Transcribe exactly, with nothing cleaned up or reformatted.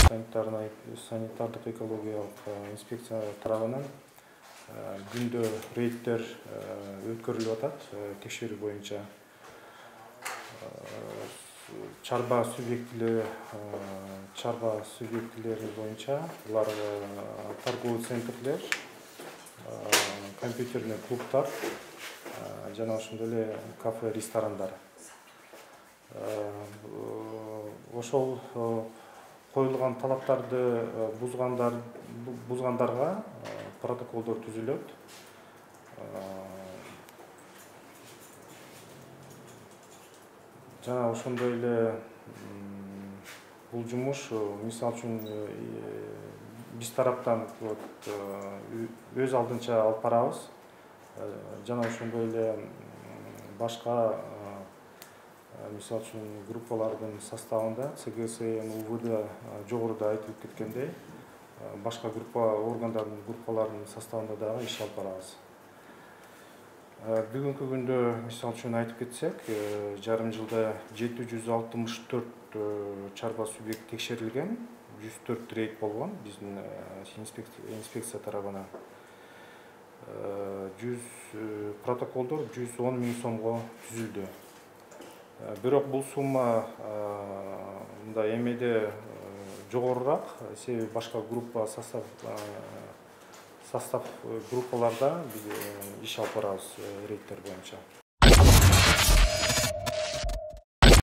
санитардык экологиялык инспекция тарабынан күндө рейдтер өткөрүлүп атат. Текшерүү боюнча чарба субъектилери чарба субъектилери боюнча булар торговый центрлер, компьютерный клубдар жана ошондой эле кафе, ресторандар. Ошол коюлган талаптарды бузгандар бузгандарга протоколдор түзүлөт. Жана ошондой эле бул жумуш мисалы үчүн биз тараптан өз алдынча алып барабыз. Жана ошондой эле башка мисалы үчүн группалардын составында ЦГСМ, УВД жогоруда айтылып кеткендей, башка группа органдардын группаларынын составында дагы иш алып барабыз. Бүгүнкү күндө мисалы үчүн айтып кетсек, жарым жылда жети жүз алтымыш төрт чарба субъект текшерилген, жүз төрт рейд болгон биздин инспекция тарабынан. жүз протоколдор жүз он миң сомго түзүлдү. Бирок бул сумма мындай эмеде жогорураак, себеби башка группа состав состав группаларда биз иш алып барабыз рейдтер боюнча.